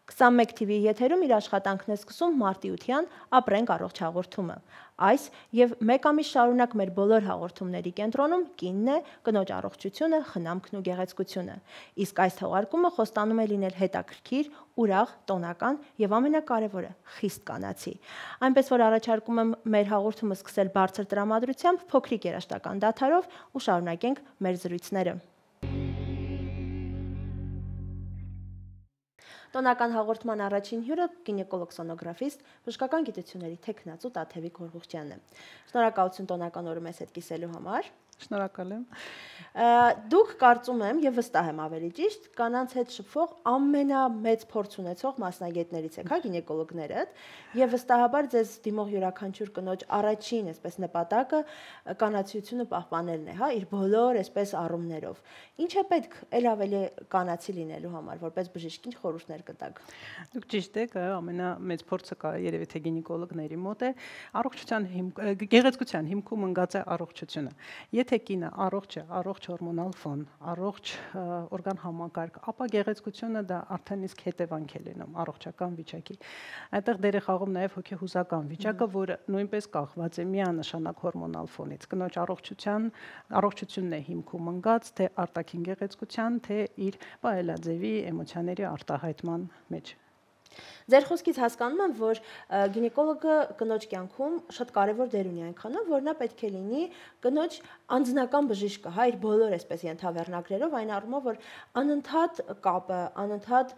21 TV եթերում իր աշխատանքն է սկսում մարտի 8-յան ապրենք առողջ հաղորդումը։ Այս եւ մեկ ամիս շարունակ մեր բոլոր հաղորդումների կենտրոնում կինն է, կնոջ առողջությունը, խնամքն ու գեղեցկությունը։ Իսկ այս թողարկումը խոստանում է լինել հետաքրքիր, ուրախ, տոնական եւ ամենակարևորը՝ խիստ կանացի։ Այնպես որ առաջարկում եմ մեր հաղորդումը սկսել բարձր տրամադրությամբ, փոքրիկ երաժշտական դադարով ու շարունակենք մեր զրույցները։ Տոնական հաղորդման առաջին հյուրը գինեկոլոգ-սոնոգրաֆիստ, բժշկական գիտությունների թեկնածու Տաթևիկ Հորղուխյանն է։ Շնորհակալություն տոնական օրը մեզ հետ կիսելու համար։ Շնորհակալ եմ։ Դուք կարծում եմ եւ վստահ եմ ավելի ճիշտ կանանց հետ շփվող ամենամեծ փորձ ունեցող մասնագետներից եք, հա, գինեկոլոգներդ, եւ վստահաբար ձեզ դիմող յուրաքանչյուր կնոջ առաջին, այսպես նպատակը կանացիությունը պահպանելն է, հա, իր բոլոր այսպես առումներով։ Ինչ է պետք ել ավելի կանացի լինելու համար, որպես բժիշկ, ինչ խորհուրդներ կտաք։ Դուք ճիշտ եք, ամենամեծ փորձը կա երևի թե գինեկոլոգների մոտ է, առողջության գեղեցկության հիմքում ընկած է առողջությունը։ Եթե կինը առողջ է, առողջ հորմոնալ ֆոն, առողջ օրգան համակարգ, ապա գեղեցկությունը դա արդեն իսկ հետևանք է լինում առողջական վիճակի։ Այդտեղ դեր է խաղում նաև հոգեհուզական վիճակը, որը նույնպես կախված է միանշանակ հորմոնալ ֆոնից։ Կնոջ առողջությունն է հիմքում ընկած թե արտաքին գեղեցկության, թե իր պահելաձևի էմոցիաների արտահայտման մեջ։ Ձեր խոսքից հասկանում եմ, որ գինեկոլոգը կնոջ կյանքում շատ կարևոր դեր ունի այնքանով, որ նա պետք է լինի կնոջ անձնական բժիշկը, հա, իր բոլոր այսպես ենթավեռնագրերով, այն առումով, որ անընդհատ կապը, անընդհատ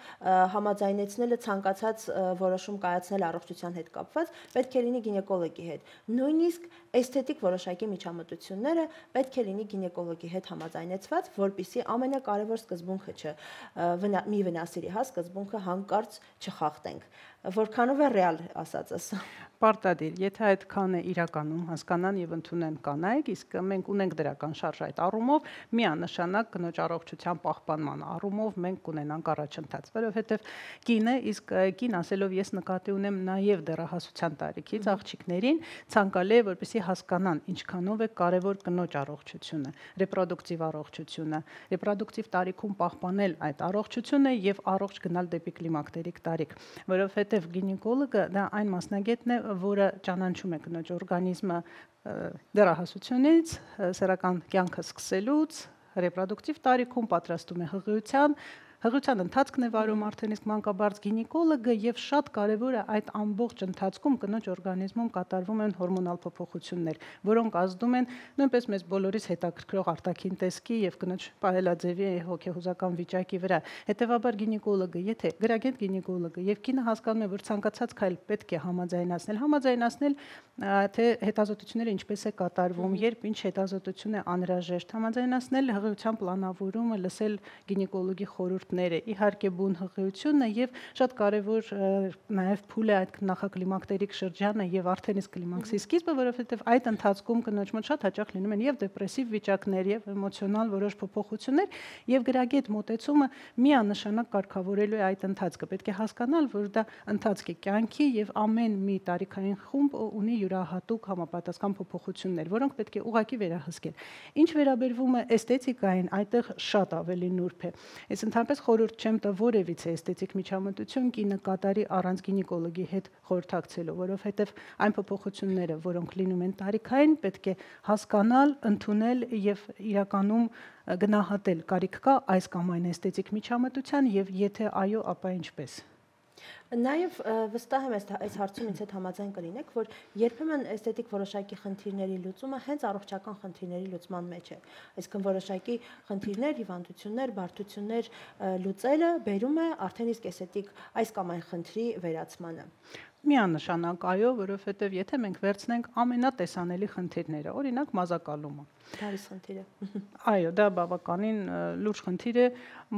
համաձայնեցնելը ցանկացած որոշում կայացնել առողջության հետ կապված, պետք է լինի գինեկոլոգի հետ։ Նույնիսկ էսթետիկ որոշակի միջամտությունները պետք է լինի գինեկոլոգի հետ համաձայնեցված, որպեսզի ամենակարևոր սկզբունքը մի վնասիրի, հա, սկզբունքը հանկարծ չխախտենք։ Որքանով է ռեալ ասածս։ Պարտադիր, եթե այդքան է իրականում հասկանան եւ ընդունեն կանայք, իսկ մենք ունենք դրական շարժ այդ առումով, միանշանակ կնոջ առողջության պահպանման առումով մենք կունենանք առաջընթաց, որովհետեւ կինը, իսկ կին ասելով ես նկատի ունեմ նաեւ դեռահասության տարիքից աղջիկներին, ցանկալի է որպեսզի հասկանան ինչքանով է կարևոր կնոջ առողջությունը, ռեպրոդուկտիվ առողջությունը, ռեպրոդուկտիվ տարիքում պահպանել այդ առողջությունը եւ առողջ գնալ դեպի կլիմակտերիկ տարիք, որովհետեւ գինեկոլոգը դա այն մասնագետն է, որը ճանաչում է կնոջ օրգանիզմը դեռահասությունից, սեռական կյանքը սկսելուց, ռեպրոդուկտիվ տարիքում պատրաստում է հղիության ընթացքն է վարում արդեն իսկ մանկաբարձ գինեկոլոգը եւ շատ կարեւոր է այդ ամբողջ ընթացքում կնոջ օրգանիզմում կատարվում են հորմոնալ փոփոխություններ, որոնք ազդում են նույնպես մեզ բոլորիս հետաքրքրող արտաքին տեսքի եւ կնոջ պահելաձևի հոգեհուզական վիճակի վրա։ Հետեւաբար գինեկոլոգը, եթե գրագետ գինեկոլոգը եւ կինը հասկանում է, որ ցանկացած քայլ պետք է համաձայնացնել, թե հետազոտությունները ինչպես է կատարվում, երբ ինչ հետազոտություն է անհրաժեշտ, համաձայնացնել հղիության պլանավորումը, լսել գինեկոլոգի խորհուրդները, իհարկե բուն հղիությունը եւ շատ կարեւոր նաեւ փուլ է այդ նախակլիմակտերիկ շրջանը եւ արդեն իսկ կլիմաքսի սկիզբը, որովհետեւ այդ ընթացքում կնոջ մոտ շատ հաճախ լինում են եւ դեպրեսիվ վիճակներ եւ էմոցիոնալ որոշ փոփոխություններ եւ գրագետ մոտեցումը միանշանակ կարգավորելու է այդ ընթացքը։ Պետք է հասկանալ, որ դա ընթացք է կյանքի եւ ամեն մի տարիքային խումբ ունի յուրահատուկ համապատասխան փոփոխություններ, որոնք պետք է ուղղակի վերահսկել։ Ինչ վերաբերվում է էսթետիկային, այդտեղ շատ ավելի նուրբ է։ Ես ընդհանրապես խորհուրդ չեմ տա որևիցե էսթետիկ միջամտություն կինը կատարի առանց գինեկոլոգի հետ խորհրդակցելու, որովհետև այն փոփոխությունները, որոնք լինում են տարիքային, պետք է հասկանալ, ընդունել եւ իրականում գնահատել կարիք կա այս կամ այն էսթետիկ միջամտության եւ եթե այո, ապա ինչպես։ Նաև վստահ եմ այս հարցում ինձ հետ համաձայն կլինեք, որ երբեմն էսթետիկ որոշակի խնդիրների լուծումը հենց առողջական խնդիրների լուծման մեջ է։ Այսինքն որոշակի խնդիրներ, հիվանդություններ, բարդություններ լուծելը բերում է արդեն իսկ էսթետիկ այս կամ այն խնդրի վերացմանը։ Միանշանակ այո, որովհետև եթե մենք վերցնենք ամենատեսանելի խնդիրները, օրինակ մազակալումը։ Դարիս խնդիրը։ Այո, դա բավականին լուրջ խնդիր է,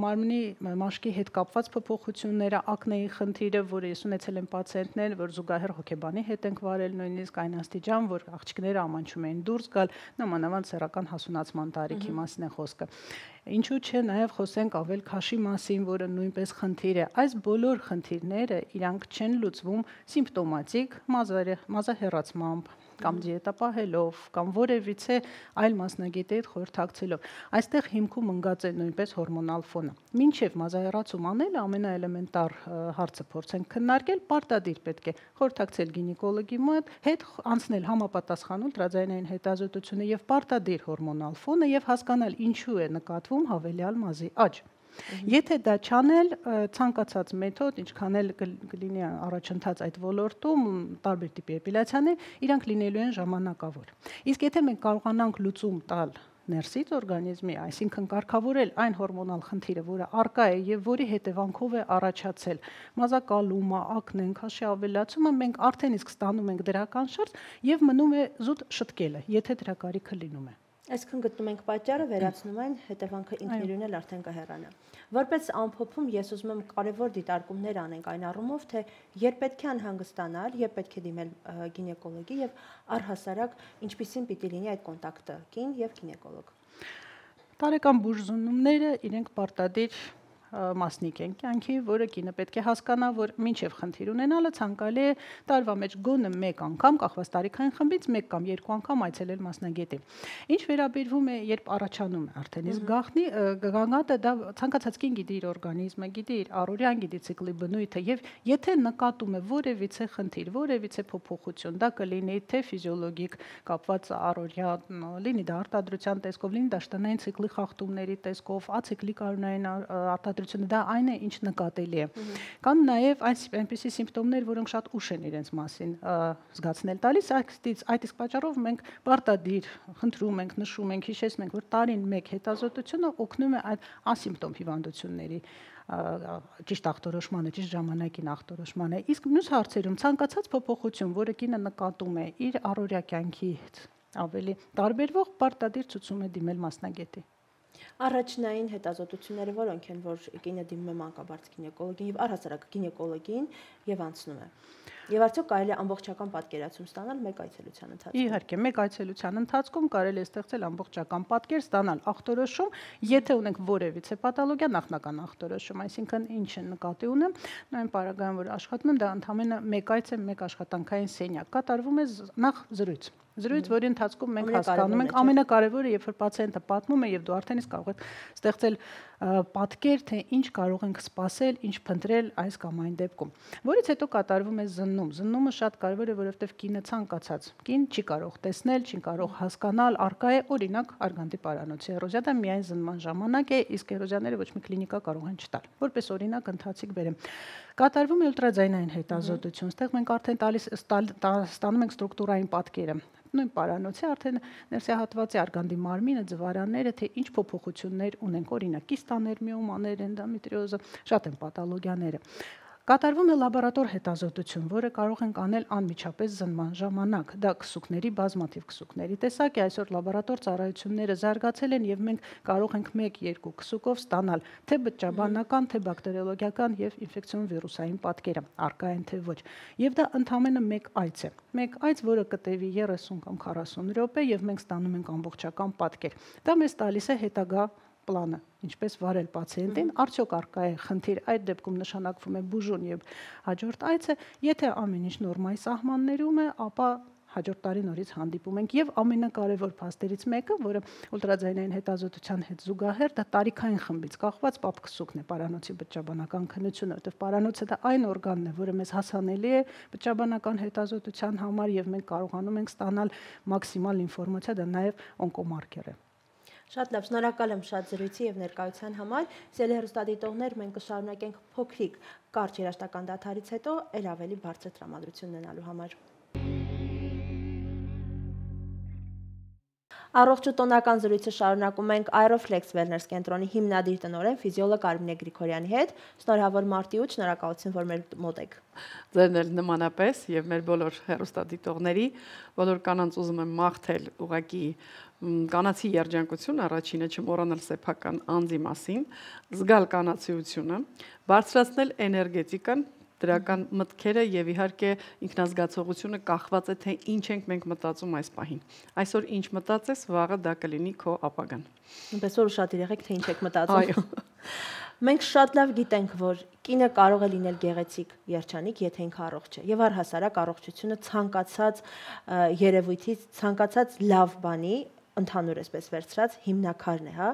մարմնի մաշկի հետ կապված փոփոխությունները, ակնեի խնդիրը, որը ես ունեցել եմ պացիենտներ, որ զուգահեռ հոգեբանի հետ ենք վարել, նույնիսկ այն աստիճան, որ աղջիկները ամանչում էին դուրս գալ, նամանավանդ սեռական հասունացման տարիքի մասին է խոսքը։ Ինչու՞ չէ, նաև խոսենք ավել քաշի մասին, որը նույնպես խնդիր է։ Այս բոլոր խնդիրները իրանք չեն լուծվում սիմպտոմատիկ մազահեռացմամբ, կամ դիետա պահելով, կամ որևիցե այլ մասնագետի հետ խորհրդակցելով։ Այստեղ հիմքում ընկած է նույնպես հորմոնալ ֆոնը։ Մինչև մազաեռացում անելը ամենաէլեմենտար հարցը փորձենք քննարկել, պարտադիր պետք է խորհրդակցել գինեկոլոգի հետ, անցնել համապատասխան ուլտրաձայնային հետազոտությունը եւ պարտադիր հորմոնալ ֆոնը եւ հասկանալ ինչու է նկատվում հավելյալ մազի աճ։ Եթե դա չանել, ցանկացած մեթոդ, ինչքան էլ կլինի առաջընթաց այդ ոլորտում, տարբեր տիպի էպիլյացիաներ, իրանք լինելու են ժամանակավոր։ Իսկ եթե մենք կարողանանք լուծում տալ ներսից օրգանիզմի, այսինքն կարգավորել այն հորմոնալ խնդիրը, որը առկա է եւ որի հետևանքով է առաջացել մազակալումը, ակնեն, քաշի ավելացումը, մենք արդեն իսկ ստանում ենք դրական շարժ եւ մնում է զուտ շտկելը, եթե դրա կարիքը լինում է։ Այսքան գտնում ենք պատճառը, վերացնում են, հետևանքը ինքն իրեն էլ արդեն կհեռանա։ Որպես ամփոփում ես ուզում եմ կարևոր դիտարկումներ անենք այն առումով, թե երբ պետք է անհանգստանալ, երբ պետք է դիմել գինեկոլոգի եւ առհասարակ ինչպիսին պիտի լինի այդ կոնտակտը կին եւ գինեկոլոգ։ Տարեկան բուժզնումները իրենք պարտադիր մասնիկ են կյանքի, որը կինը պետք է հասկանա, որ մինչև խնդիր ունենալը ցանկալի է տարվա մեջ գոնե մեկ անգամ, կախված տարիքային խմբից, մեկ կամ երկու անգամ այցելել մասնագետի։ Ինչ վերաբերվում է, երբ առաջանում է արդեն իսկ գաղտնի, գանգատը դա ցանկացած կին գիտի իր օրգանիզմը, գիտի իր առօրյան, գիտի ցիկլի բնույթը եւ եթե նկատում է որևիցե խնդիր, որևիցե փոփոխություն, դա կլինի թե ֆիզիոլոգիկ կապված առօրյա, լինի դա արտադրության տեսքով, լինի դա շտանային ցիկլի խախտումների տեսքով, ացիկլիկ արյունային դա այն է, ինչ նկատելի է։ Կան նաև այնպիսի սիմպտոմներ, որոնք շատ ուշ են իրենց մասին զգացնել տալիս, այդ իսկ պատճառով մենք պարտադիր խնդրում ենք, նշում ենք, հիշեցնում ենք, որ տարին մեկ հետազոտությունը օգնում է այդ ասիմպտոմ հիվանդությունների ճիշտ ախտորոշմանը, ճիշտ ժամանակին ախտորոշմանը։ Իսկ մյուս հարցերում ցանկացած փոփոխություն, որը կինը նկատում է իր առօրյա կյանքի հետ ավելի տարբերվող, պարտադիր ցուցում է դիմել մասնագետի։ Առաջնային հետազոտությունները որոնք են, որ կինը դիմում է մանկաբարձ գինեկոլոգին եւ առհասարակ գինեկոլոգին եւ անցնում է։ Եվ արդյոք կարելի է ամբողջական պատկերացում ստանալ մեկ այցելության ընթացքում։ Իհարկե, մեկ այցելության ընթացքում կարելի է ստեղծել ամբողջական պատկեր, ստանալ ախտորոշում, եթե ունենք որևիցե պաթոլոգիա, նախնական ախտորոշում, այսինքն ինչ է նկատի ունեմ, նույն պարագայում որ աշխատում եմ, դա ընդհանրապես մեկ այց է, մեկ աշխատանքային սենյակ, կատարվում է նախ զրույց, որի ընթացքում մենք հասկանում ենք ամենակարևորը, երբ որ պացիենտը պատմում է եւ դու արդեն իսկ կարող ես ստեղծել պատկեր, թե ինչ կարող ենք սպասել, ինչ փնտրել այս կամ այն դեպքում։ Որից հետո կատարվում է զննում։ Զննումը շատ կարևոր է, որովհետեւ կինը ցանկացած կին չի կարող տեսնել, չի կարող հասկանալ, արկա է օրինակ արգանդի պարանոցի էրոզիա, դա միայն զննման ժամանակ է, իսկ էրոզիաները ոչ մի կլինիկա կարող են չտալ։ Որպես օրինակ ընթացիկ բերեմ։ Կատարվում է ուլտրաձայնային հետազոտություն, այստեղ մենք արդեն ստանում ենք ստրուկտուրային պատկերը։ Նույն պարանոցի արդեն ներսահատվածի արգանդի մարմինը, ձվարանները, թե ինչ փոփոխություններ ունենք, օրինակ կիստաներ, միոմաներ, էնդոմետրիոզը, շատ են պաթոլոգիաները։ Կատարվում է լաբորատոր հետազոտություն, որը կարող ենք անել անմիջապես զննման ժամանակ։ Դա քսուկների, բազմաթիվ քսուկների տեսակ է, այսօր լաբորատոր ծառայությունները զարգացել են եւ մենք կարող ենք 1-2 քսուկով ստանալ թե բջջաբանական, թե բակտերիոլոգիական եւ ինֆեկցիոն վիրուսային պատկերը, արկա են թե ոչ։ Եվ դա ընդամենը մեկ այց է։ Մեկ այց, որը կտևի 30 կամ 40 րոպե եւ մենք ստանում ենք ամբողջական պատկեր։ Դա մեզ տալիս է հետագա պլանը, ինչպես վարել պացիենտին, արդյոք արկա է խնդիր, այդ դեպքում նշանակվում է բուժում եւ հաջորդ այցը, եթե ամեն ինչ նորմայի սահմաններում է, ապա հաջորդ տարի նորից հանդիպում ենք եւ ամենակարևոր փաստերից մեկը, որը ուլտրաձայնային հետազոտության հետ զուգահեռ դա տարիքային խմբից կախված պապքսուկն է, պարանոցի բջջաբանական քննությունը, որտեղ պարանոցը դա այն օրգանն է, որը մեզ հասանելի է բջջաբանական հետազոտության համար եւ մենք կարողանում ենք ստանալ մաքսիմալ ինֆորմացիա, դա նաեւ օնկոմարկեր է։ Շատ լավ, շնորհակալ եմ շատ զրույցի եւ ներկայության համար։ Սիրելի հեռուստադիտողներ, մենք կշարունակենք փոքրիկ կարճ երաժշտական դադարից հետո ել ավելի բարձր տրամադրություն ունենալու համար։ Առողջ ու տոնական զրույցը շարունակում ենք Aeroflex Wellness կենտրոնի հիմնադիր տնօրեն ֆիզիոլոգ Արմինե Գրիգորյանի հետ։ Շնորհավոր մարտի ու շնորհակալություն, որ մեր մոտ եք։ Ձերն էլ նմանապես եւ մեր բոլոր հեռուստադիտողների, բոլոր կանանց ուզում եմ մաղթել ուղղակի կանացի երջանկություն, առաջինը չմոռանալ սեփական անձի մասին, զգալ կանացիությունը, բարձրացնել էներգետիկան, դրական մտքերը եւ իհարկե ինքնազգացողությունը կախված է թե ինչ ենք մենք մտածում այս պահին։ Այսօր ինչ մտածես, վաղը դա կլինի քո ապագան։ Այնպես որ ուշադիր եղեք թե ինչ եք մտածում։ Այո։ Մենք շատ լավ գիտենք, որ կինը կարող է լինել գեղեցիկ երջանիկ, եթե ինքը առողջ է։ Եվ առհասարակ առողջությունը ցանկացած երևույթից, ցանկացած լավ բանի ընդհանուր էսպես վերցրած հիմնակարն է, հա։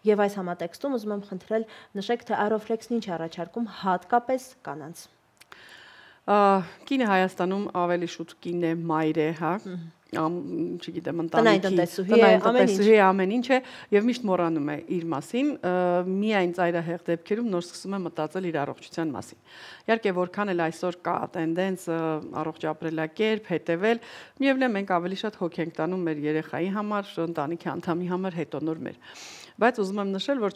Եվ այս համատեքստում ուզում եմ խնդրել նշեք, թե Aeroflex-ն ինչ առաջարկում հատկապես կանանց։ Կինը Հայաստանում ավելի շուտ կին է, մայր է, հա, չգիտեմ, տնտեսուհի ամեն ինչ է եւ միշտ մոռանում է իր մասին, միայն ծայրահեղ դեպքերում նոր սկսում է մտածել իր առողջության մասին։ Իհարկե, որքան էլ այսօր կա տենդենց առողջ ապրելակերպ, հետեւել, միևնույն է մենք ավելի շատ հոգ ենք տանում մեր երեխայի համար, ընտանիքի անդամի համար, հետո նոր մեր։ Բայց ուզում եմ նշել, որ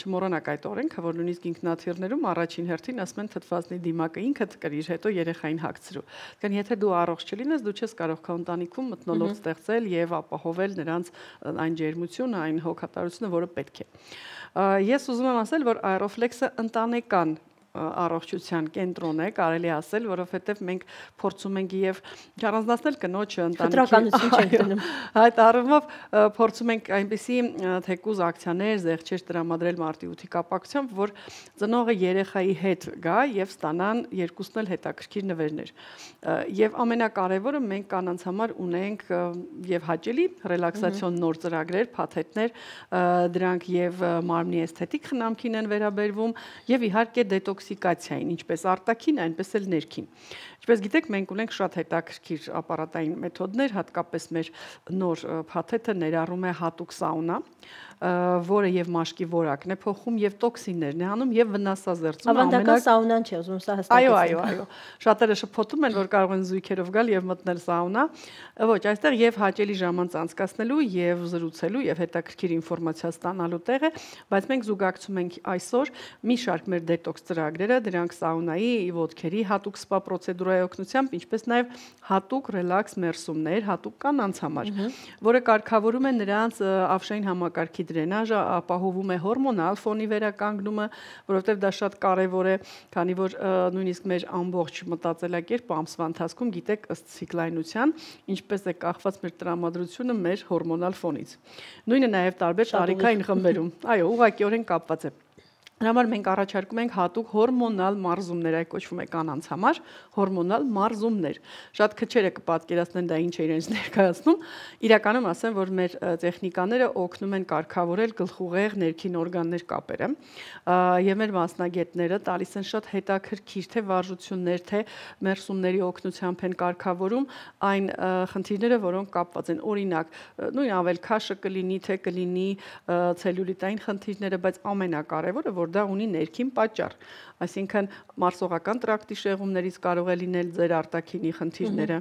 չմոռանաք այդ օրենքը, որ նույնիսկ ինքնաթիռներում առաջին հերթին ասում են թթվածնի դիմակը ինքդ կրիր, հետո երեխային հագցրու։ Դեռ եթե դու առողջ չլինես, դու չես կարող քո ընտանիքում մթնոլորտ ստեղծել եւ ապահովել նրանց այն ջերմությունը, այն հոգատարությունը, որը պետք է։ Ես ուզում եմ ասել, որ Aeroflex-ը ընտանեկան առողջության կենտրոն է, կարելի ասել, որովհետև մենք փորձում ենք եւ չառանձնացնել կնոջը ընտանիքի չենք դնում։ Այդ առումով փորձում ենք այնպիսի թեկուզ ակցիաներ, զեղչեր տրամադրել մարտի 8-ի կապակցությամբ, որ ծնողը երեխայի հետ գա եւ ստանան երկուսն էլ հետաքրքիր նվերներ։ Եվ ամենակարևորը մենք կանանց համար ունենք եւ հաճելի ռելաքսացիոն նոր ծրագրեր, փաթեթներ, դրանք եւ մարմնի էսթետիկ խնամքին են վերաբերվում եւ իհարկե դետոքսիկացիային, ինչպես արտաքին, այնպես էլ ներքին։ Ինչպես գիտեք, մենք ունենք շատ հետաքրքիր ապարատային մեթոդներ, հատկապես մեր նոր փաթեթը ներառում է հատուկ սաունա, որը եւ մաշկի որակն է փոխում եւ տոքսիններն է անում եւ վնասազերծում ավանդական սաունան չէ, ուզում սա հստակեցնել։ Այո, շատերը շփոթում են, որ կարող են զույգերով գալ եւ մտնել սաունա։ Ոչ, այստեղ եւ հաճելի ժամանց անցկացնելու եւ զրուցելու եւ հետաքրքիր ինֆորմացիա ստանալու տեղ է, բայց մենք զուգակցում ենք այսօր մի շարք մեր դետոքս ծրագրերը, դրանք սաունայի, ոդքերի հատուկ սպա պրոցեդուրայի օգնությամբ, ինչպես նաեւ հատուկ ռելաքս մերսումներ, հատուկ կանանց համար, որը կարգավորում է նրանց ավշային համակարգի դրենաժը, ապահովում է հորմոնալ ֆոնի վերականգնումը, որովհետև դա շատ կարևոր է, քանի որ նույնիսկ մեր ամբողջ մտածելակերպը ամսվա ընթացքում գիտեք ըստ ցիկլայնության, ինչպես է կախված մեր տրամադրությունը մեր հորմոնալ ֆոնից։ Նույնը նաև տարբեր տարիքային խմբերում։ Այո, ուղղակիորեն կապված է։ Դրա համար մենք առաջարկում ենք հատուկ հորմոնալ մարզումներ, այ կոչվում է կանանց համար հորմոնալ մարզումներ։ Շատ քչերը կպատկերացնեն դա ինչ է իրենց ներկայացնում։ Իրականում ասեմ, որ մեր տեխնիկաները օգնում են կարգավորել գլխուղեղ ներքին օրգաններ կապերը, եւ մեր մասնագետները տալիս են շատ հետաքրքիր թե վարժություններ, թե մերսումների օգնությամբ են կարգավորում այն խնդիրները, որոնք կապված են։ Օրինակ, նույն ավելքաշը կլինի, թե կլինի ցելյուլիտային խնդիրները, բայց ամենակարևորը, որ դա ունի ներքին պատճառ, այսինքն մարսողական տրակտի շեղումներից կարող է լինել ձեր արտաքինի խնդիրները,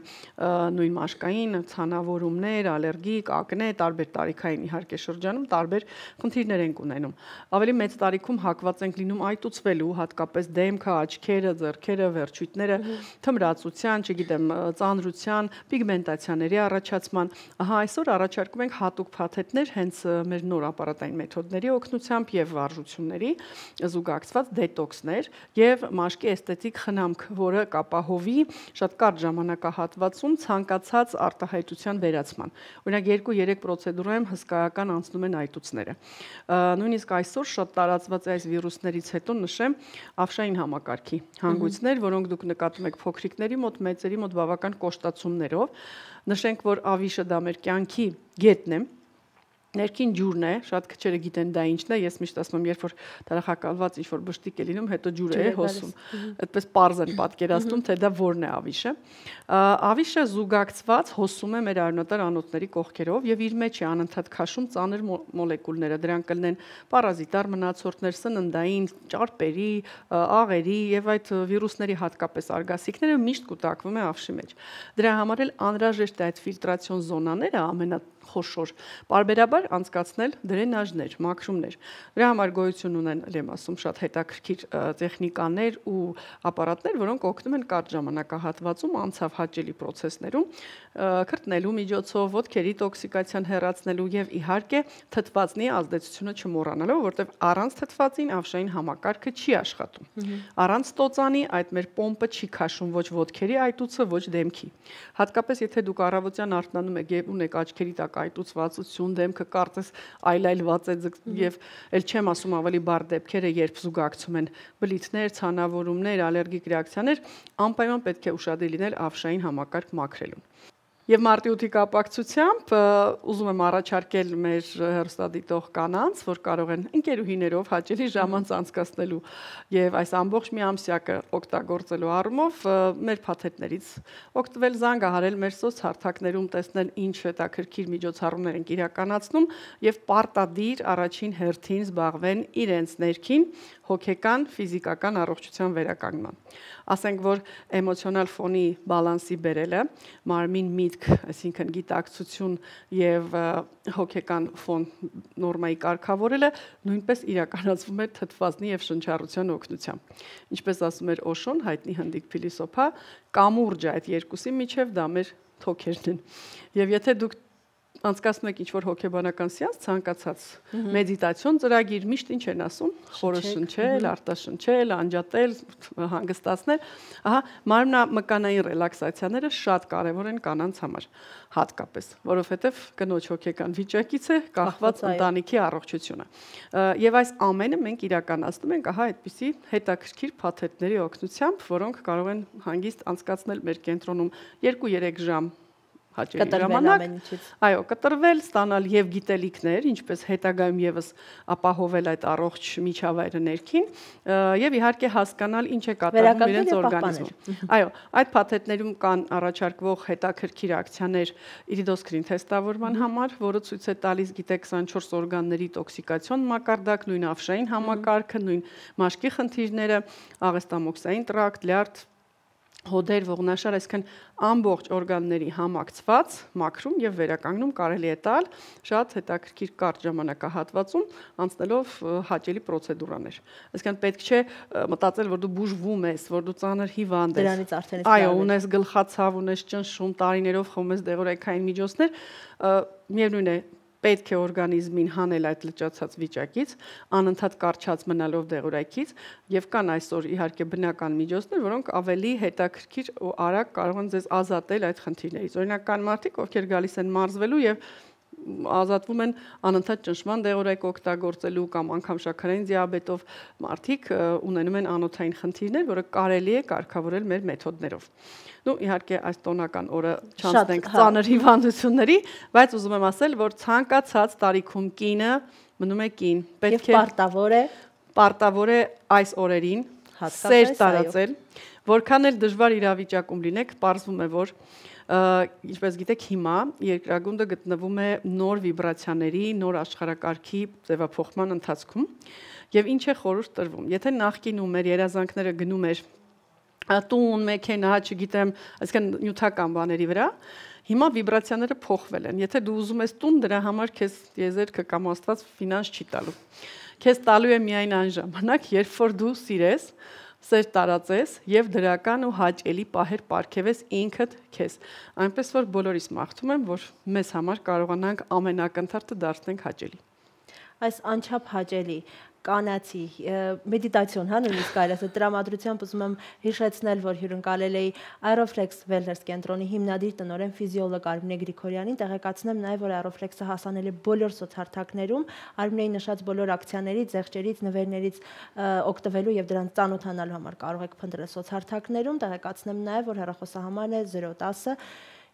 նույն մաշկային ցանավորումներ, ալերգիկ, ակնե, տարբեր տարիքային իհարկե շրջանում տարբեր խնդիրներ են ունենում։ Ավելի մեծ տարիքում հակված ենք լինում այտուցվելու, հատկապես դեմքը, աչքերը, ձեռքերը, վերջույթները, թմրացության, չգիտեմ, ծանրության, պիգմենտացիաների առաջացման։ Ահա այսօր առաջարկում ենք հատուկ փաթեթներ հենց մեր նոր ապարատային մեթոդների օգնությամբ եւ վարժությունների զուգակցված դետոքսներ եւ մաշկի էսթետիկ խնամք, որը կապահովի շատ կարճ ժամանակահատվածում ցանկացած արտահայտության վերացման։ Օրինակ 2-3 պրոցեդուրայում հսկայական անցնում են այտուցները։ Նույնիսկ այսօր շատ տարածված է այս վիրուսներից հետո նշեմ ավշային համակարգի հանգույցներ, որոնք դուք նկատում եք փոքրիկների մոտ, մեծերի մոտ բավական կոշտացումներով։ Նշենք, որ ավիշը դա մեր կյանքի գետն է։ Ներքին ջուրն է, շատ քչերը գիտեն դա ինչն է, ես միշտ ասում եմ, երբ որ դարախակալված ինչ-որ բշտիկ է լինում, հետո ջուրը է հոսում։ Այդպես պարզ են պատկերացնում, թե դա որն է ավիշը։ Ավիշը զուգակցված հոսում է մեր արյունատար անոթների կողքերով եւ իր մեջ է անընդհատ քաշում ծանր մոլեկուլները, դրանք կլինեն պարազիտար մնացորդներ, սննդային, ճարպերի, աղերի եւ այդ վիրուսների հատկապես արգասիքները միշտ կուտակվում է ավշի մեջ։ Դրա համար էլ անհրաժեշտ է այդ ֆիլտրացիոն զոնաները ամենախոշոր պարբերաբար անցկացնել դրենաժներ, մաքրումներ։ Դրա համար գոյություն ունեն, եմ ասում, շատ հետաքրքիր տեխնիկաներ ու ապարատներ, որոնք օգնում են կարճ ժամանակահատվածում անցավ հաճելի process-ներում քրտնելու միջոցով, ոտքերի տոքսիկացիան հեռացնելու եւ իհարկե թթվածնի ազդեցությունը չմոռանալով, որտեղ առանց թթվածին ավշային համակարգը չի աշխատում։ Առանց տոծանի այդ մեր պոմպը չի քաշում ոչ ոտքերի այտուցը, ոչ դեմքի։ Հատկապես եթե դուք առավոտյան արթնանում եք եւ ունեք աչքերի տակ կայտուցվածություն, դեմքը կարծես այլայլված է եւ ել չեմ ասում ավելի բարդ դեպքերը, երբ զուգակցում են բլիթներ, ցանավորումներ, ալերգիկ ռեակցիաներ, անպայման պետք է ուշադիր լինել ավշային համակարգ մաքրելուն։ Եվ մարտի 8-ի կապակցությամբ ուզում եմ առաջարկել մեր հեռուստադիտող կանանց, որ կարող են ընկերուհիներով հաճելի ժամանց անցկացնելու եւ այս ամբողջ մի ամսյակը օգտագործելու առումով մեր փաթեթներից օգտվել, զանգահարել մեր սոցհարթակներում, տեսնել ինչ հետաքրքիր միջոցառումներ են իրականացնում եւ պարտադիր առաջին հերթին զբաղվեն իրենց ներքին հոգեկան, ֆիզիկական առողջության վերականգնման։ Ասենք, որ էմոցիոնալ ֆոնի բալանսի բերելը, մարմին միտք, այսինքն գիտակցություն եւ հոգեկան ֆոն նորմայի կարգավորելը նույնպես իրականացվում է թթվածնի եւ շնչառության օգնությամբ։ Ինչպես ասում էր Օշոն, հայտնի հնդիկ փիլիսոփա, կամուրջը այդ երկուսի միջև դա մեր թոքերն են։ Եվ եթե դուք անցկացնում եք ինչ-որ հոգեբանական սեանս, ցանկացած մեդիտացիոն ծրագիր, միշտ ինչ են ասում, խորը շնչել, արտաշնչել, անջատել, հանգստացնել, ահա մարմնամկանային ռելաքսացիաները շատ կարևոր են կանանց համար, հատկապես, որովհետև կնոջ հոգեկան վիճակից է կախված ընտանիքի առողջությունը։ Եվ այս ամենը մենք իրականացնում ենք ահա այդպիսի հետաքրքիր փաթեթների օգնությամբ, որոնք կարող են հանգիստ անցկացնել մեր կենտրոնում 2-3 ժամ հաճելի ժամանակ, այո, կտրվել, ստանալ եւ գիտելիքներ, ինչպես հետագայում եւս ապահովել այդ առողջ միջավայրը ներքին եւ իհարկե հասկանալ ինչ է կատարվում իրենց օրգանիզմում։ Այո, այդ փաթեթներում կան առաջարկվող հետաքրքիր ակցիաներ իրիդոսկրին թեստավորման համար, որը ցույց է տալիս գիտե 24 օրգանների տոքսիկացիոն մակարդակ, նույն ավշային համակարգը, նույն մաշկի խնդիրները, աղեստամոքսային տրակտ, լյարդ, հոդեր, ողնաշար, այսինքն ամբողջ օրգանների համակցված մաքրում եւ վերականգնում կարելի է տալ շատ հետաքրքիր կարճ ժամանակահատվածում անցնելով հաճելի պրոցեդուրաներ։ Այսինքն պետք չէ մտածել, որ դու բուժվում ես, որ դու ծանր հիվանդ ես։ Դրանից արդեն այո, ունես գլխացավ, ունես ճնշում, տարիներով խմում ես դեղորայքային միջոցներ, միևնույն է պետք է օրգանիզմին հանել այդ լճացած վիճակից, անընդհատ կարճած մնալով դեղորայքից եւ կան այսօր իհարկե բնական միջոցներ, որոնք ավելի հետաքրքիր ու արագ կարող են ձեզ ազատել այդ խնդիրներից։ Օրինակ կան մարդիկ, ովքեր գալիս են մարզվելու եւ ազատվում են անընդհատ ճնշման դեղորայք օգտագործելու կամ անգամ շաքարային դիաբետով մարդիկ ունենում են անոթային խնդիրներ, որը կարելի է կարգավորել մեր մեթոդներով։ Նու իհարկե այս տոնական օրը չանցնենք ծանր հիվանդությունների, բայց ուզում եմ ասել, որ ցանկացած տարիքում կինը մնում է կին, պետք է պարտավոր է այս օրերին սեր տարածել, որքան էլ դժվար իրավիճակում լինեք, պարզվում է, որ ինչպես գիտեք, հիմա երկրագունդը գտնվում է նոր վիբրացիաների, նոր աշխարհակարգի ձևափոխման ընթացքում, եւ ինչ է խորհուրդ տրվում։ Եթե նախկինում մեր երազանքները գնում էր տուն, մեքենա, չգիտեմ, այսինքն նյութական բաների վրա, հիմա վիբրացիաները փոխվել են։ Եթե դու ուզում ես տուն, դրա համար քեզ տիեզերքը կամ Աստված ֆինանս չի տալու։ Քեզ տալու է միայն այն ժամանակ, երբ որ դու սիրես, սեր տարածես եւ դրական ու հաճելի պահեր պարգևես ինքդ քեզ։ Այնպես որ բոլորիս մաղթում եմ, որ մեզ համար կարողանանք ամենակնդարը դարձնենք հաճելի։ Այս անչափ հաճելի կանացի մեդիտացիոն, հա, նույնիսկ կարելի ասել տրամադրությամբ ուզում եմ հիշեցնել, որ հյուրընկալել էի Aeroflex Wellness կենտրոնի հիմնադիր տնօրեն ֆիզիոլոգ Արմինե Գրիգորյանին, տեղեկացնեմ նաև, որ Aeroflex-ը հասանել է բոլոր սոցհարթակներում, Արմինեի նշած բոլոր ակցիաներից, զեղչերից, նվերներից օգտվելու եւ դրանց ծանոթանալու համար կարող եք փնտրել սոցհարթակներում, տեղեկացնեմ նաև, որ հեռախոսահամարն է 010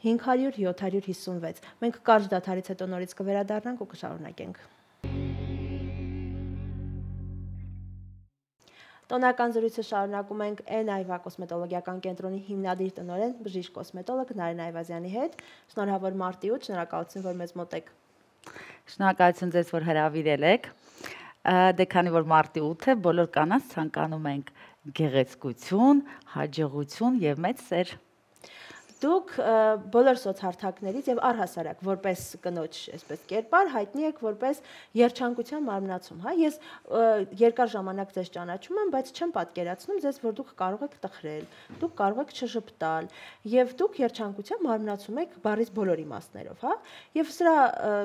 500 756։ Մենք կարճ դադարից հետո նորից կվերադառնանք ու կշարունակենք։ Տոնական զրույցը շարունակում ենք N-Այվա կոսմետոլոգիական կենտրոնի հիմնադիր տնօրեն բժիշկ կոսմետոլոգ Նարին Այվազյանի հետ։ Շնորհավոր մարտի 8, շնորհակալություն, որ մեզ մոտ եք։ Շնորհակալություն ձեզ, որ հրավիրել եք։ Դե քանի որ մարտի 8 է, բոլոր կանանց ցանկանում ենք գեղեցկություն, հաջողություն եւ մեծ սեր։ Դուք բոլոր սոցհարթակներից եւ առհասարակ որպես կնոջ, այսպես կերպար հայտնի եք որպես երջանկության մարմնացում, հա։ Ես երկար ժամանակ ձեզ ճանաչում եմ, բայց չեմ պատկերացնում ձեզ, որ դուք կարող եք տխրել, դուք կարող եք չժպտալ եւ դուք երջանկության մարմնացում եք բառից բոլոր իմաստներով, հա։ Եվ սրա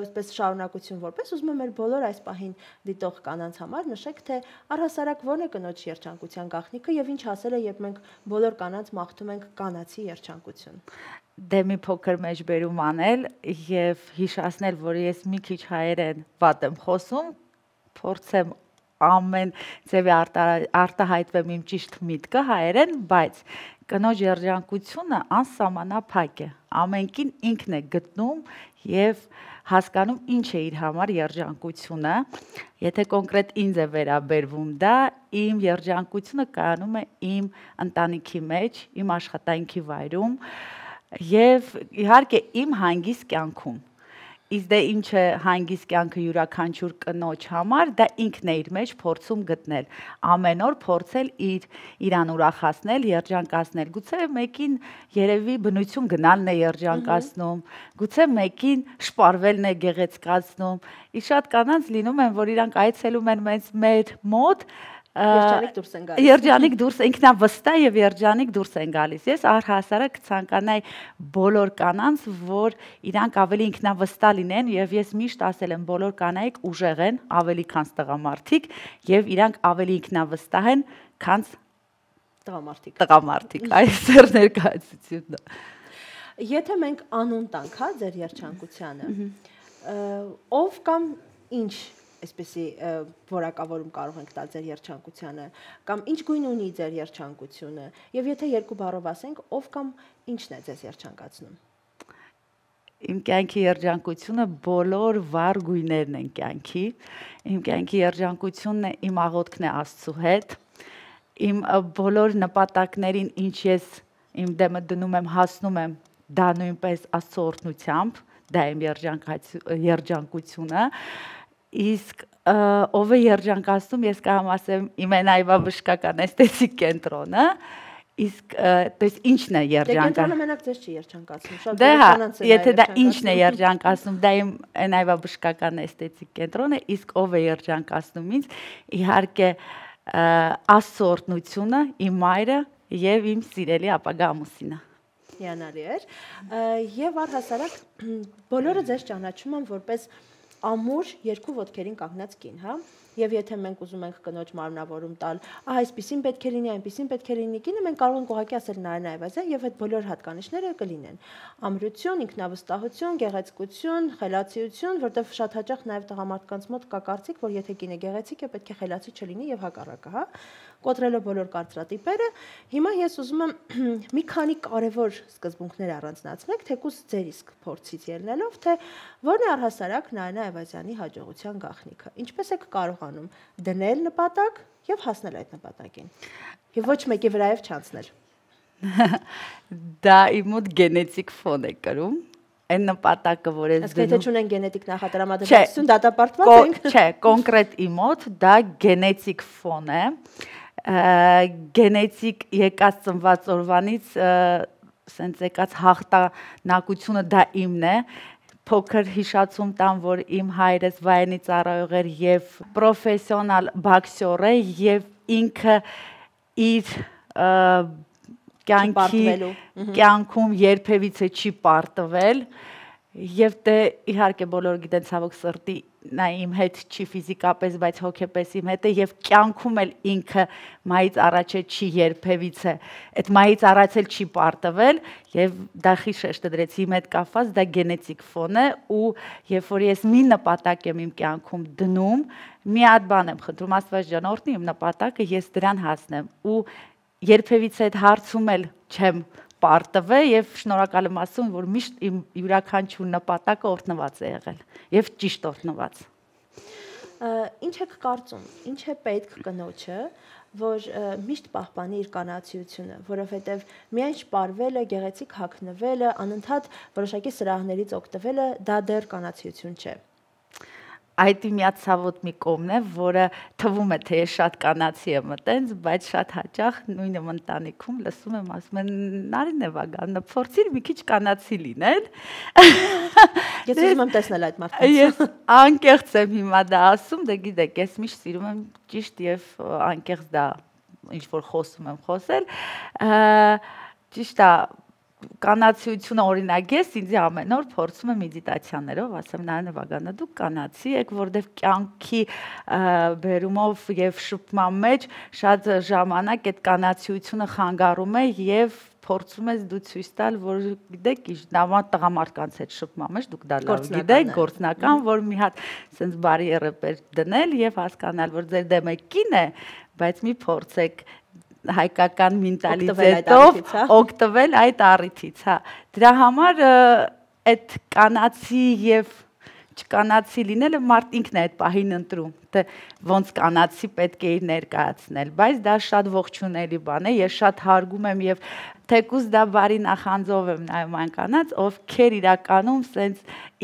այսպես շարունակություն որպես ուզում եմ մեր բոլոր այս պահին դիտող կանանց համար նշեք, թե առհասարակ ո՞րն է կնոջ երջանկության գաղտնիքը եւ ինչ ասել է, երբ մենք բոլոր կանանց մաղթում ենք կանացի երջանկություն։ Դե մի փոքր մեջբերում անել եւ հիշացնել, որ ես մի քիչ հայերեն վատ եմ խոսում, փորձեմ ամեն ձևի արտահայտվեմ իմ ճիշտ միտքը հայերեն, բայց կնոջ երջանկությունը անսահմանափակ է։ Ամենքին ինքն է գտնում եւ հասկանում ինչ է իր համար երջանկությունը։ Եթե կոնկրետ ինձ է վերաբերվում դա, իմ երջանկությունը կայանում է իմ ընտանիքի մեջ, իմ աշխատանքի վայրում եւ իհարկե իմ հանգիստ կյանքում։ Իսկ դե ինչ է հանգիստ կյանքը յուրաքանչյուր կնոջ համար, դա ինքն է իր մեջ փորձում գտնել։ Ամեն օր փորձել իրան ուրախացնել, երջանկացնել։ Գուցե մեկին երևի բնություն գնալն է երջանկացնում, գուցե մեկին շպարվելն է գեղեցկացնում։ Իսկ շատ կանանց լինում են, որ իրանք այցելում են մեր մոտ Երջանիկ դուրս են գալիս։ Երջանիկ դուրս ինքնավստահ եւ երջանիկ դուրս են գալիս։ Ես առհասարակ կցանկանայի բոլոր կանանց, որ իրանք ավելի ինքնավստահ լինեն եւ ես միշտ ասել եմ բոլոր կանայք ուժեղ են, ավելի քան տղամարդիկ եւ իրանք ավելի ինքնավստահ են, քան տղամարդիկ։ Այս էր ներկայացությունն։ Եթե մենք անուն տանք, հա, ձեր երջանկությանը, ով կամ ինչ այսպեսի որակավորում կարող ենք տալ ձեր երջանկությանը, կամ ինչ գույն ունի ձեր երջանկությունը, եւ եթե երկու բառով ասենք, ով կամ ինչն է ձեզ երջանկացնում։ Իմ կյանքի երջանկությունը բոլոր վառ գույներն են կյանքի։ Իմ կյանքի երջանկությունն է իմ աղոթքն է Աստծո հետ։ Իմ բոլոր նպատակներին, ինչ ես իմ դեմը դնում եմ, հասնում եմ, դա նույնպես Աստծո օրհնությամբ, դա իմ երջանկությունը։ Իսկ ով է երջանկացնում, ես կարող ասեմ իմ այնայվա բժշկական էսթետիկ կենտրոնը, իսկ դες ինչն է երջանկացնում։ Կենտրոնը մենակ ձեզ չի երջանկացնում։ Դե հա, եթե դա ինչն է երջանկացնում, դա իմ այնայվա բժշկական էսթետիկ կենտրոնը, իսկ ով է երջանկացնում ինձ, իհարկե Աստծո օրհնությունը, իմ մայրը եւ իմ սիրելի ապագա ամուսինը։ Հիանալի էր։ Եվ առհասարակ բոլորը ձեզ ճանաչում են որպես ամուր երկու ոտքերին կանգնած կին, հա, եւ եթե մենք ուզում ենք կնոջ մարմնավորում տալ, այսպեսին պետք է լինի, այնպեսին պետք է լինի կինը, մենք կարող ենք ուղղակի ասել Նարինա Այվազյան եւ այդ բոլոր հատկանիշները կլինեն։ Ամրություն, ինքնավստահություն, գեղեցկություն, խելացիություն, որտեղ շատ հաճախ նաեւ տղամարդկանց մոտ կա կարծիք, որ եթե կինը գեղեցիկ է, պետք է խելացի չլինի եւ հակառակը, հա։ Կոտրելով բոլոր կարծրատիպերը, հիմա ես ուզում եմ մի քանի կարևոր սկզբունքներ առանձնացնել, թեկուզ ձեր իսկ փորձից ելնելով, թե որն է առհասարակ Նարինա Այվազյանի հաջողության գաղտնիքը։ Ինչպես եք կարողանում դնել նպատակ եւ հասնել այդ նպատակին։ Եվ ոչ մեկի վրայով չանցնել։ Դա իմ մոտ գենետիկ ֆոն է կրում։ Այն նպատակը, որ ես դնում։ Իսկ եթե չունեն գենետիկ նախատրամադրվածություն, դատապարտված ենք։ Չէ, կոնկրետ իմ մոտ դա գենետիկ ֆոն է։ Գենետիկ եկած ծնված օրվանից սենց եկած հաղթանակությունը դա իմն է։ Փոքր հիշացում տամ, որ իմ հայրս վայրենի ծառայող էր եւ պրոֆեսիոնալ բոքսեր է եւ ինքը իր կյանքում երբևիցե չի պարտվել եւ դե իհարկե բոլորը գիտեն ցավոք սրտի նա իմ հետ չի ֆիզիկապես, բայց հոգեպես իմ հետ է եւ կյանքում էլ ինքը մայից առաջ չի երբևիցե այդ մայից առաջ էլ չի պարտվել եւ դա խիշեշտը դրեցի իմ հետ կապված դա գենետիկ ֆոն է ու երբ որ ես մի նպատակ եմ իմ կյանքում դնում մի հատ բան եմ խնդրում Աստված ջան օրհնի իմ նպատակը ես դրան հասնեմ ու երբևիցե այդ հարցում էլ չեմ պարտվել եւ շնորհակալ եմ ասում որ միշտ իմ յուրաքանչյուր նպատակը օրհնված է եղել եւ ճիշտ օրհնված։ Ինչ եք կարծում, ինչ է պետք կնոջը, որ միշտ պահպանի իր կանացիությունը, որովհետեւ միայն շպարվելը, գեղեցիկ հագնվելը, անընդհատ որոշակի սրահներից օգտվելը դա դեռ կանացիություն չէ։ Այդ միած ցավոտ մի կողմն է, որը թվում է թե ես շատ կանացի եմ մտենց, բայց շատ հաճախ նույնը ընտանիքում լսում եմ ասում են Նարինե Վագաննա, փորձիր մի քիչ կանացի լինել։ Ես ուզում եմ տեսնել այդ մարդկանց։ Ես անկեղծ եմ հիմա դա ասում, դե գիտեք, ես միշտ սիրում եմ ճիշտ եւ անկեղծ դա ինչ որ խոսում եմ խոսել։ Ճիշտ է, կանացիությունը օրինակ ես ինձ ամեն օր փորձում եմ մեդիտացիաներով, ասեմ նայեն Վագանը դուք կանացի եք, որովհետև կյանքի բերումով եւ շփման մեջ շատ ժամանակ այդ կանացիությունը խանգարում է եւ փորձում ես դու ցույց տալ, որ գիտեք, նավա տղամարդկանց հետ շփման մեջ դուք դա լավ գիտեք, գործնական, որ մի հատ sense բարի ռեպեր դնել եւ հասկանալ, որ ձեր դեմը կին է, բայց մի փորձեք հայկական մենտալիտետով օգտվել այդ առիթից, հա։ Դրա համար այդ կանացի եւ չկանացի լինելը մարդ ինքն է այդ պահին ընտրում, թե ոնց կանացի պետք է իր ներկայացնել, բայց դա շատ ողջունելի բան է, ես շատ հարգում եմ եւ թեկուզ դա բարի նախանձով եմ նայում այն կանանց, ովքեր իրականում սենց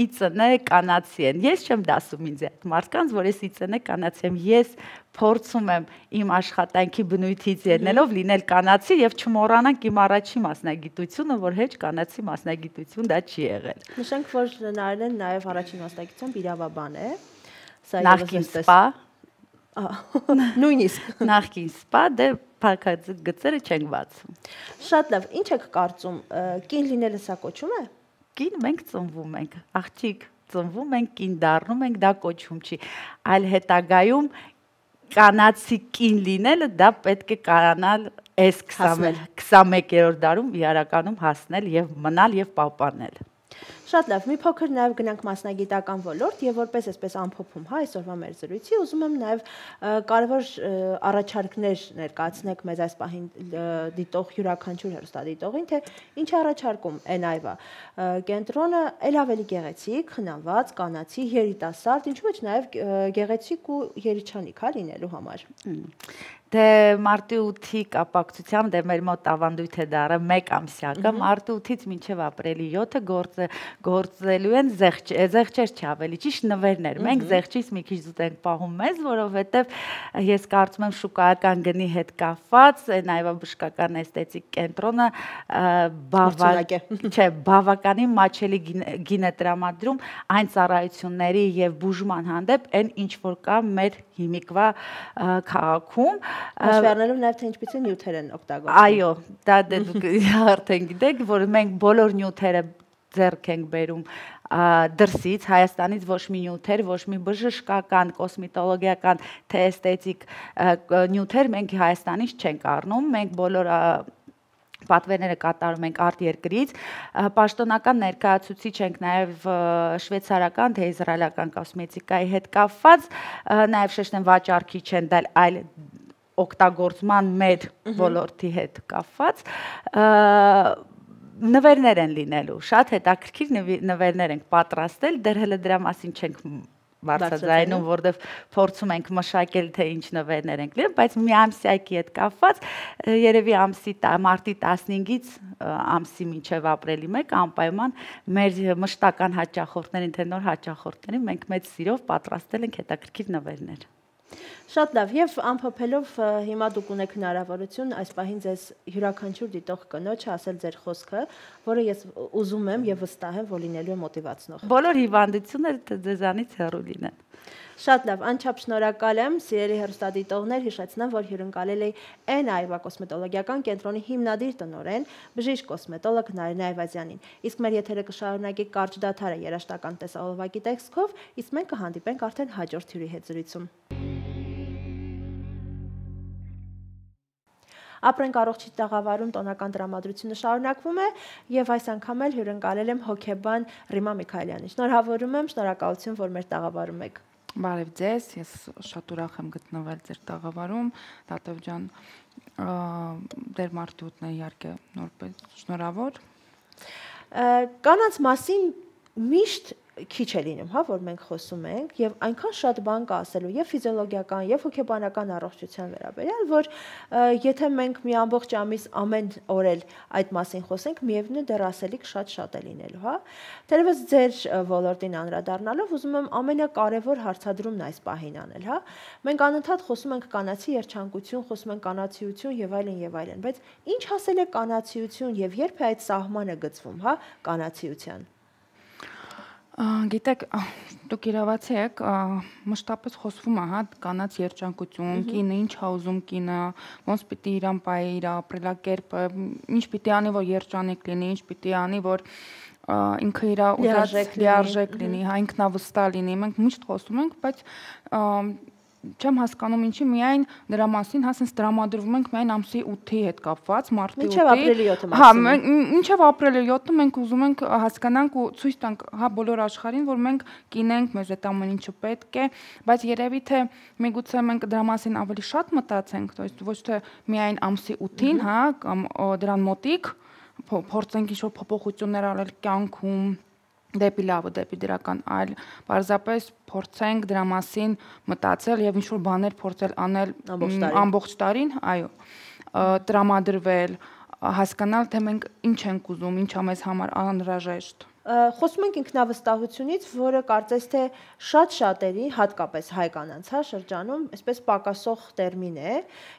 իծնե կանացի են։ Ես չեմ դասում ինձ այդ մարդկանց, որ ես իծնե կանացի եմ, ես փորձում եմ իմ աշխատանքի բնույթից ելնելով լինել կանացի եւ չմոռանանք իմ առաջի մասնագիտությունը, որ հեչ կանացի մասնագիտություն դա չի եղել։ Նշենք, որ Նարէն նաեւ առաջին մասնագիտությամբ իրավաբան է։ Նախկին սպա նույնիսկ նախկին սպա դե փակագծերը չեն բացում։ Շատ լավ, ինչ եք կարծում, կին լինելը սա կոչում է։ Կին մենք ծնվում ենք, աղջիկ ծնվում ենք, կին դառնում ենք, դա կոչում չի, այլ հետագայում կանացի կին լինելը դա պետք է կարանալ այս 21-րդ դարում իրականում հասնել եւ մնալ եւ պահպանել։ Շատ լավ, մի փոքր նաև գնանք մասնագիտական ոլորտ եւ որպես այսպես ամփոփում, հա, այսօրվա մեր զրույցի, ուզում եմ նաև կարևոր առաջարկներ ներկայացնեք մեզ այս պահին դիտող յուրաքանչյուր հեռուստադիտողին, թե ինչ առաջարկում են այվա կենտրոնը ել ավելի գեղեցիկ, խնամված, կանացի, երիտասարդ, ինչու՞ ոչ նաև գեղեցիկ ու երիչանիկ, հա, լինելու համար։ Դե մարտի 8-ի կապակցությամբ դե մեր մոտ ավանդույթ է դառը 1 ամսյակը, մարտի 8-ից մինչև ապրիլի 7-ը գործելու են զեղչեր չի ավելի ճիշտ նվերներ։ Մենք զեղչից մի քիչ զուտ ենք պահում մեզ, որովհետև ես կարծում եմ շուկայական գնի հետ կապված, այն բժշկական էսթետիկ կենտրոնը բավականին մաչելի գին է տրամադրում այն ծառայությունների եւ բուժման հանդեպ այն ինչ որ կա մեր հիմիկվա քաղաքում Հաշվի առնելով նաև թե ինչպիսի նյութեր են օգտագործում։ Այո, դա դե դուք արդեն գիտեք, որ մենք բոլոր նյութերը ձեռք ենք բերում դրսից, Հայաստանից ոչ մի նյութեր, ոչ մի բժշկական, կոսմետոլոգիական, թե էսթետիկ նյութեր մենք Հայաստանից չենք առնում, մենք բոլոր պատվերները կատարում ենք արտերկրից, պաշտոնական ներկայացուցիչ ենք նաև շվեյցարական, թե իսրայելական կոսմետիկայի հետ կապված, նաև շեշտեմ վաճառքի չեն դալ, այլ օգտագործման մեր ոլորտի հետ կապված նվերներ են լինելու, շատ հետաքրքիր նվերներ ենք պատրաստել, դեռ հələ դրա մասին չենք բարձրաձայնում, որտեղ փորձում ենք մշակել թե ինչ նվերներ ենք լինել, բայց մի ամսյակի հետ կապված երևի մարտի 15-ից ամսի մինչև ապրիլի 1 անպայման մեր մշտական հաճախորդներին, թե նոր հաճախորդներին մենք մեծ սիրով պատրաստել ենք հետաքրքիր նվերներ։ Շատ լավ, եւ ամփոփելով հիմա դուք ունեք հնարավորություն այս պահին ձեզ յուրաքանչյուր դիտող կնոջ ասել ձեր խոսքը, որը ես ուզում եմ եւ վստահ եմ, որ լինելու է մոտիվացնող։ Բոլոր հիվանդությունները ձեզանից հեռու լինեն։ Շատ լավ, անչափ շնորհակալ եմ, սիրելի հեռուստադիտողներ, հիշեցնեմ, որ հյուրընկալել էի N Այվա կոսմետոլոգիական կենտրոնի հիմնադիր տնօրեն, բժիշկ կոսմետոլոգ Նարինե Այվազյանին։ Իսկ մեր եթերը կշարունակի կարճ դադարը երաժշտական տեսահոլովակի տեքստով, իսկ մենք կհանդիպենք արդեն հաջորդ հյուրի հետ զրույցում։ Ապրենք առողջի տաղավարում տոնական տրամադրությունը շարունակվում է եւ այս անգամ էլ հյուրընկալել եմ հոկեբան Ռիմա Միքայելյանին։ Շնորհավորում եմ, շնորհակալություն, որ մեր տաղավարում եք։ Բարև ձեզ, ես շատ ուրախ եմ գտնվել ձեր տաղավարում, Տատև ջան, դեր մարտի 8-ն է իհարկե նորպես շնորհավոր։ Կանանց մասին միշտ քիչ է լինում, հա, որ մենք խոսում ենք եւ այնքան շատ բան կա ասելու եւ ֆիզիոլոգիական եւ հոգեբանական առողջության վերաբերյալ, որ եթե մենք մի ամբողջ ամիս ամեն օր էլ այդ մասին խոսենք, միևնույն դեռ ասելիք շատ է լինելու, հա։ Թերևս ձեր ոլորտին անդրադառնալով ուզում եմ ամենակարևոր հարցադրումն այս պահին անել, հա։ Մենք անընդհատ խոսում ենք կանացի երջանկություն, խոսում ենք կանացիություն եւ այլն, բայց ինչ ասել է կանացիություն եւ երբ է այդ սահմանը գծվում, հա, կանացիության։ Գիտեք, դուք իրավացի եք, մշտապես խոսվում է, հա, կանանց երջանկություն, կինը ինչ է ուզում կինը, ոնց պիտի իրան պահի իր ապրելակերպը, ինչ պիտի անի, որ երջանիկ լինի, ինչ պիտի անի, որ ինքը իր լիարժեք լինի, հա, ինքնավստահ լինի։ Մենք միշտ խոսում ենք, բայց չեմ հասկանում ինչի միայն դրա մասին, հա, sense տրամադրվում ենք միայն ամսի 8-ի հետ կապված, մարտի 8-ի։ Մինչև ապրիլի 7-ը Հա, մինչև ապրիլի 7-ը մենք ուզում ենք հասկանանք ու ցույց տանք, հա, բոլոր աշխարհին, որ մենք կինենք, մեզ այդ ամեն ինչը պետք է, բայց երևի թե միգուցե մենք դրա մասին ավելի շատ մտածենք, то есть ոչ թե միայն ամսի 8-ին, հա, կամ դրան մոտիկ փորձենք ինչ-որ փոփոխություններ անել կյանքում դեպի լավը, դեպի դրական, այլ պարզապես փորձենք դրա մասին մտածել եւ ինչ-որ բաներ փորձել անել ամբողջ տարին, այո, տրամադրվել, հասկանալ թե մենք ինչ ենք ուզում, ինչա մեզ համար անհրաժեշտ։ Խոսում ենք ինքնավստահությունից, որը կարծես թե շատ շատերի, հատկապես հայ կանանց, հա, շրջանում, այսպես պակասող տերմին է,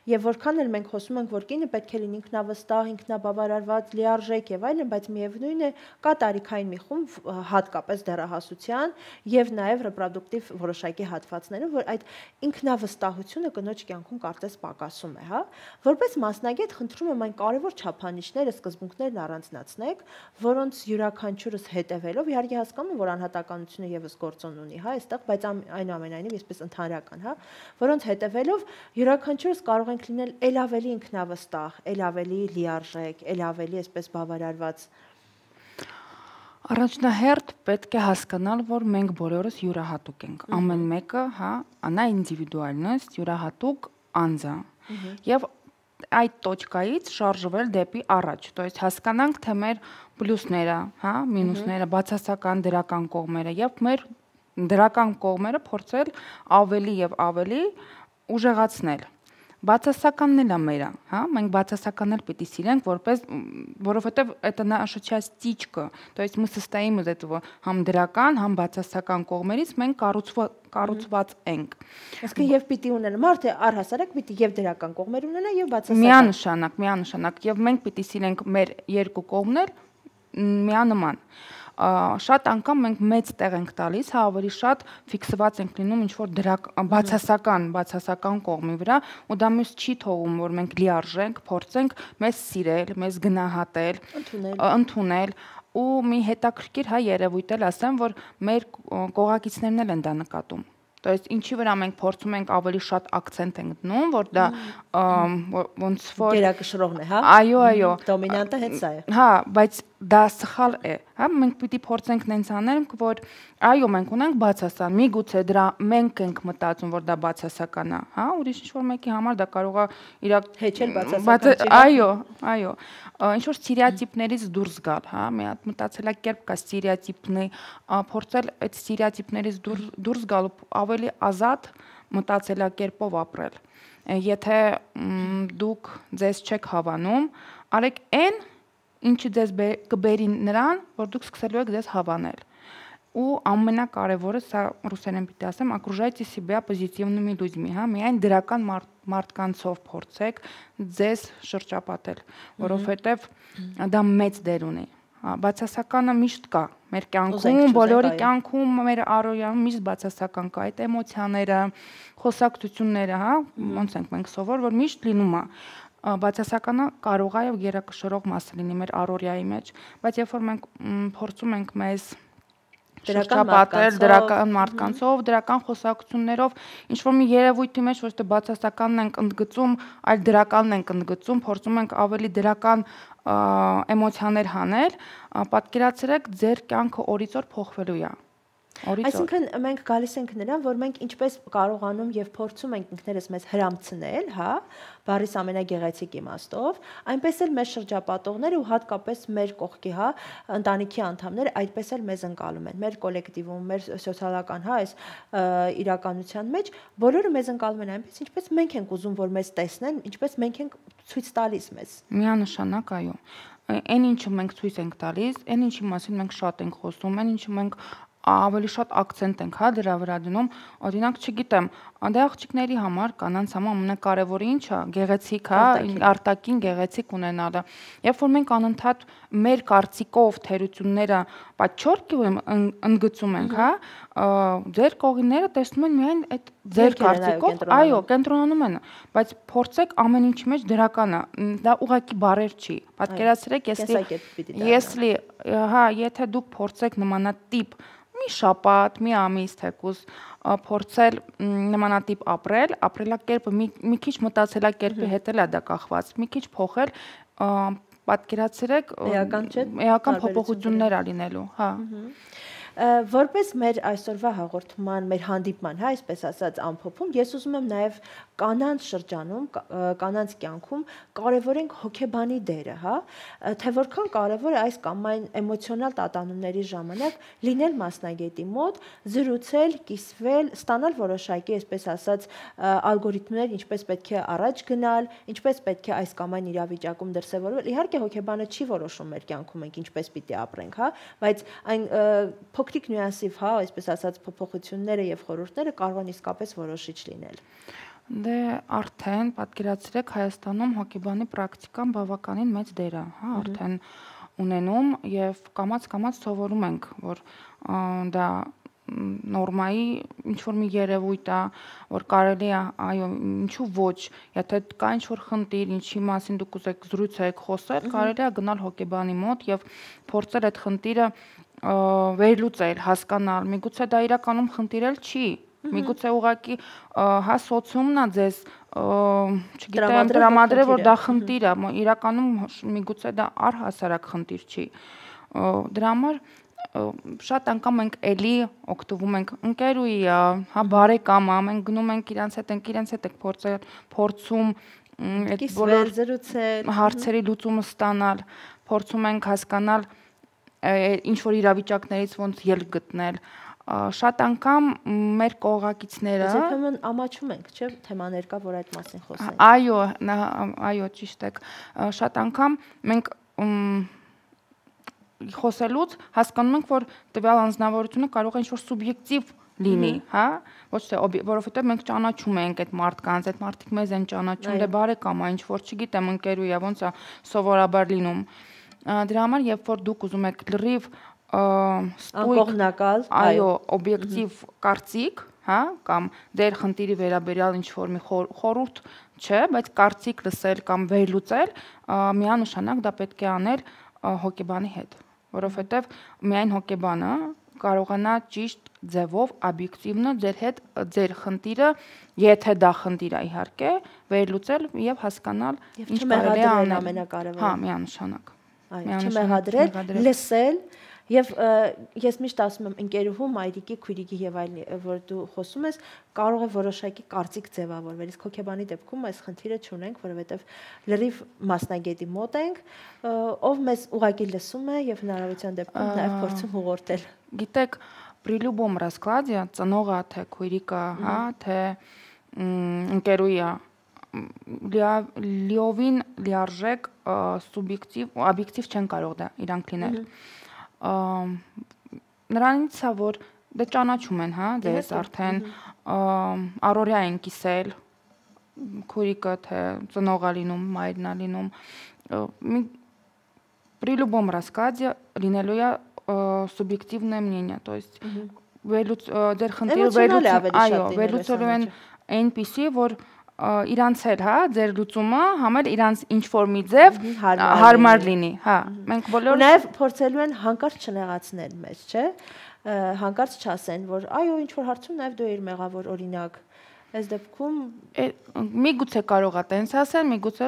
եւ որքան էլ մենք խոսում ենք, որ կինը պետք է լինի ինքնավստահ, ինքնաբավարարված, լիարժեք եւ այլն, բայց միևնույն է, կա տարիքային մի խումբ, հատկապես դեռահասության եւ նաեւ ռեպրոդուկտիվ որոշակի հատվածներում, որ այդ ինքնավստահությունը կնոջ կյանքում կարծես պակասում է, հա։ Որպես մասնագետ խնդրում եմ այն կարևոր չափանիշները, սկզբունքներն առանձնացնեք, որոնց յուրաքանչյուրս հետևելով, իհարկե հասկանում եմ, որ անհատականությունը եւս գործոն ունի, հա, այստեղ, բայց այնուամենայնիվ այսպես ընդհանրական, հա, որոնց հետևելով յուրաքանչյուրս կարող ենք լինել ել ավելի ինքնավստահ, ել ավելի լիարժեք, ել ավելի այսպես բավարարված։ Առաջնահերթ պետք է հասկանալ, որ մենք բոլորս յուրահատուկ ենք։ Ամեն մեկը, հա, անա ինդիվիդուալնոсть, յուրահատուկ անձ է։ Եվ այդ տոճկայից շարժվել դեպի առաջ, то есть հասկանանք թե մեր պլյուսները, հա, մինուսները, բացասական դրական կողմերը եւ մեր դրական կողմերը փորձել ավելի եւ ավելի ուժեղացնել։ Բացասականն էլ է մերը, հա, մենք բացասականն էլ պիտի սիրենք, որովհետեւ это наша частичка, то есть мы состоим из этого համ դրական, համ բացասական կողմերից մենք կառուցված ենք։ Այսինքն եւ պիտի ունենա մարդը առհասարակ պիտի եւ դրական կողմեր ունենա եւ բացասական։ Միանշանակ եւ մենք պիտի սիրենք մեր երկու կողմներ միանման։ Շատ անգամ մենք մեծ տեղ ենք տալիս, հա, ավելի շատ ֆիքսված ենք լինում ինչ-որ բացասական կողմի վրա, ու դա մեզ չի թողում, որ մենք լիարժենք, փորձենք մեզ սիրել, մեզ գնահատել, ընդունել, ու մի հետաքրքիր հա երևույթ էլ ասեմ, որ մեր կողակիցներն էլ են դա նկատում։ То есть ինչի վրա մենք փորձում ենք ավելի շատ акցենտ ենք դնում, որ դա ոնց որ գերակշռողն է, հա։ Այո, դոմինանտը հետ սա է։ Հա, բայց դա սխալ է, հա, մենք պիտի փորձենք նենց անել, որ այո, մենք ունենք բացասական, միգուցե դրա մենք ենք մտածում, որ դա բացասական է, հա, ուրիշ ինչ-որ մեկի համար դա կարող է իր հեչել բացասական։ Այո, ինչ-որ ստերեոտիպներից դուրս գալ, հա, մի հատ մտածելակերպ կա ստերեոտիպնի, փորձել այդ ստերեոտիպներից դուրս գալ ու ավելի ազատ մտածելակերպով ապրել։ Եթե դուք ձեզ չեք հավանում, արեք այն ինչը ձեզ կբերի նրան, որ դուք սկսելու եք ձեզ հավանել։ Ու ամենակարևորը, սա ռուսերեն պիտի ասեմ, окружайте себя позитивными людьми, հա, միայն դրական մարդկանցով փորձեք ձեզ շրջապատել, որովհետև դա մեծ դեր ունի։ Բացասականը միշտ կա մեր կյանքում, բոլորի կյանքում, մեր առօրյայում միշտ բացասական կա, այդ էմոցիաները, խոսակցությունները, հա, ոնց ենք մենք սովոր, որ միշտ լինում է։ Բացասականը կարող է եւ գերակշռող մասը լինի մեր առօրյայի մեջ, բայց երբ որ մենք փորձում ենք մեզ շրջապատել դրական մարդկանցով, դրական խոսակցություններով, ինչ որ մի երևույթի մեջ ոչ թե բացասականն ենք ընդգծում, այլ դրականն ենք ընդգծում, փորձում ենք ավելի դրական էմոցիաներ հանել, պատկերացրեք ձեր կյանքը օրից օր փոխվելու է։ Այսինքն մենք գալիս ենք նրան, որ մենք ինչպես կարողանում եւ փորձում ենք ինքներս մեզ հրամցնել, հա, բառիս ամենագեղեցիկ իմաստով, այնպես էլ մեր շրջապատողները ու հատկապես մեր կողքի, հա, ընտանիքի անդամները այդպես էլ մեզ ընկալում են, մեր կոլեկտիվում, մեր սոցիալական, հա, այս իրականության մեջ բոլորը մեզ ընկալում են այնպես, ինչպես մենք ենք ուզում, որ մեզ տեսնեն, ինչպես մենք ենք ցույց տալիս մեզ։ Միանշանակ, այո։ Այն ինչը մենք ցույց ենք տալիս, այն ինչի մասին մենք շատ ենք խոսում, այն ինչը մենք ավելի շատ акցենտ ենք հա դրա վրա դնում, օրինակ չգիտեմ, դե աղջիկների համար կանանց համար ամենակարևորը ինչ է, գեղեցիկ հա, արտաքին գեղեցիկ ունենալը։ Երբ որ մենք անընդհատ մեր կարծիքով թերությունները պատճառ ընդգծում ենք, հա, ձեր կողինները տեսնում են միայն այդ ձեր կարծիքով, այո, կենտրոնանում են, բայց փորձեք ամեն ինչի մեջ դրականը, դա ուղղակի բարեր չի։ Պատկերացրեք, если հա, եթե դուք փորձեք նմանատիպ մի շաբաթ, մի ամիս թեկուզ փորձել նմանատիպ ապրել, ապրելակերպը մի քիչ մտածելակերպի հետ էլ է դա կախված, մի քիչ փոխել, պատկերացրեք, էական փոփոխություններ ա լինելու, հա։ Որպես մեր այսօրվա հաղորդման, մեր հանդիպման, հա, այսպես ասած, ամփոփում, ես ուզում եմ նաև կանանց շրջանում, կանանց կյանքում կարևորենք հոգեբանի դերը, հա, թե որքան կարևոր է այս կամ այն էմոցիոնալ տատանումների ժամանակ լինել մասնագետի մոտ, զրուցել, կիսվել, ստանալ որոշակի, այսպես ասած, ալգորիթմներ, ինչպես պետք է առաջ գնալ, ինչպես պետք է այս կամ այն իրավիճակում դրսևորվել։ Իհարկե հոգեբանը չի որոշում մեր կյանքում մենք ինչպես պիտի ապրենք, հա, բայց այն փոքրիկ նյուանսիվ, հա, այսպես ասած, փոփոխությունները եւ խորհուրդները կարող են իսկապես որոշիչ լինել։ Դե արդեն պատկերացրեք Հայաստանում հոգեբանի պրակտիկան բավականին մեծ դեր է, հա, արդեն ունենում եւ կամաց-կամաց սովորում ենք, որ դա նորմայի ինչ որ մի երևույթ է, որ կարելի է, այո, ինչու ոչ, եթե կա ինչ որ խնդիր, ինչի մասին դուք ուզեք զրուցեք, խոսել, կարելի է գնալ հոգեբանի մոտ եւ փորձել այդ խնդիրը վերլուծել, հասկանալ, միգուցե դա իրականում խնդիր էլ չի, միգուցե ուղղակի հա սոցիումն է ձեզ, չգիտեմ, տրամադրել, որ դա խնդիր է, իրականում միգուցե դա առհասարակ խնդիր չի։ Դրա համար շատ անգամ մենք էլի օգտվում ենք ընկերուի, հա բարեկամա, մենք գնում ենք իրancs հետ ենք փորձում այդ բոլոր հարցերի լուծումը ստանալ, փորձում ենք հասկանալ ինչ որ իրավիճակներից ոնց ելք գտնել։ Շատ անգամ մեր կողակիցները երբեմն ամաչում ենք, չէ՞, թեմաներ կա, որ այդ մասին խոսենք։ Այո, ճիշտ եք։ Շատ անգամ մենք խոսելուց հասկանում ենք, որ տվյալ անձնավորությունը կարող է ինչ-որ սուբյեկտիվ լինի, հա, ոչ թե որովհետև մենք ճանաչում ենք այդ մարդկանց, այդ մարդիկ մեզ են ճանաչում, դե բարեկամ է, ինչ որ չգիտեմ, ընկերուի է, ոնց է սովորաբար լինում։ Դրա համար, երբ որ դուք ուզում եք լրիվ անկողմնակալ, այո, օբյեկտիվ կարծիք, հա, կամ դեր խնդիրի վերաբերյալ ինչ որ մի խորհուրդ չէ, բայց կարծիք լսել կամ վերլուծել, միանշանակ դա պետք է անել հոգեբանի հետ, որովհետև միայն հոգեբանը կարողանա ճիշտ ձևով օբյեկտիվնը ձեր հետ ձեր խնդիրը, եթե դա խնդիր է իհարկե, վերլուծել եւ հասկանալ ինչ կարելի է անել ամենակարևորը։ Հա, միանշանակ։ Այո, չմեղադրել, լսել եւ ես միշտ ասում եմ ընկերուհու, մայրիկի, քույրիկի եւ այլն, որ դու խոսում ես, կարող է որոշակի կարծիք ձևավորվել։ Իսկ հոգեբանի դեպքում այս խնդիրը չունենք, որովհետեւ լրիվ մասնագետի մոտ ենք, ով մեզ ուղղակի լսում է եւ հնարավորության դեպքում նաեւ փորձում ուղղորդել։ Գիտեք, при любом раскладе ծնողը, թե քույրիկը, հա, թե ընկերուի լիովին լիարժեք սուբյեկտիվ, օբյեկտիվ չեն կարող դա իրանք լինել։ Նրանից է, որ դե ճանաչում են, հա, դες արդեն առօրյա են կիսել, քույրիկը թե ծնողը լինում, մայրն է լինում, при любом раскладе լինելու է субъективное мнение, то есть դեր խնդիրը վերլուծելու են այնպիսի, որ իրանց էլ, հա, ձեր լուծումը համել իրանց ինչ-որ մի ձև հարմար լինի, հա, մենք բոլորը նաև փորձելու են հանկարծ չնեղացնել մեզ, չէ՞, հանկարծ չասեն, որ այո, ինչ-որ հարցում նաև դու ես մեղավոր, օրինակ, այս դեպքում միգուցե կարող է տենց ասել, միգուցե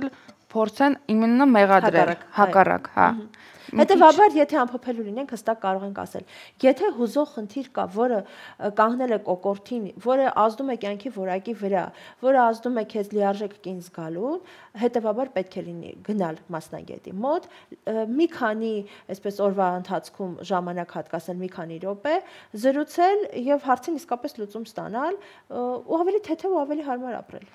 փորձեն իմенно մեղադրել, հակառակ, հա։ Հետևաբար, եթե ամփոփելու լինենք, հստակ կարող ենք ասել, եթե հուզող խնդիր կա, որը կանգնել է կոկորդին, որը ազդում է կյանքի որակի վրա, որը ազդում է քեզ լիարժեք կին զգալու, հետևաբար պետք է լինի գնալ մասնագետի մոտ, մի քանի, այսպես օրվա ընթացքում ժամանակ հատկացնել մի քանի րոպե, զրուցել եւ հարցին իսկապես լուծում ստանալ, ու ավելի թեթև ու ավելի հարմար ապրել։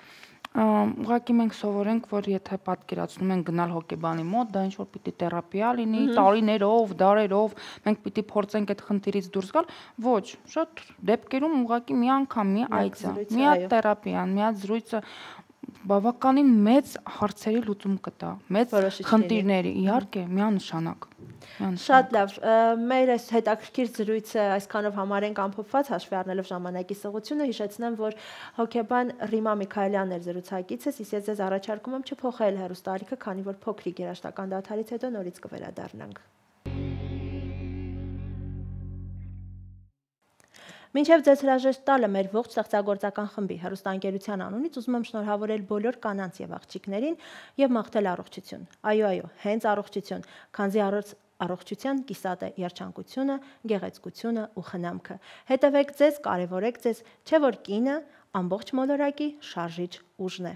Ուղղակի մենք սովորենք, որ եթե պատկերացնում ենք գնալ հոգեբանի մոտ, դա ինչ որ պիտի թերապիա լինի, տարիներով, դարերով, մենք պիտի փորձենք այդ խնդիրից դուրս գալ, ոչ, շատ դեպքերում ուղղակի մի անգամ մի այցը, մի հատ թերապիան, մի հատ զրույցը բավականին մեծ հարցերի լուծում կտա, մեծ խնդիրների, իհարկե, միանշանակ։ Շատ լավ, մեր այս հետաքրքիր զրույցը այսքանով համարենք ամփոփված, հաշվի առնելով ժամանակի սղությունը, հիշեցնեմ, որ հոգեբան Ռիմա Միքայելյանն էր զրուցակիցս, իսկ ես ձեզ առաջարկում եմ չփոխել հեռուստաալիքը, քանի որ փոքրիկ երաժշտական դադարից հետո նորից կվերադառնանք։ Մինչև ձեզ հրաժեշտ տալը մեր ողջ ստեղծագործական խմբի հեռուստաընկերության անունից ուզում եմ շնորհավորել բոլոր կանանց եւ աղջիկներին եւ մաղթել առողջություն։ Այո, հենց առողջություն, քանզի առողջության կիսատ է երջանկությունը, գեղեցկությունը ու խնամքը։ Հետևեք ձեզ, կարևորեք ձեզ, չէ որ կինը ամբողջ մոլորակի շարժիչ ուժն է։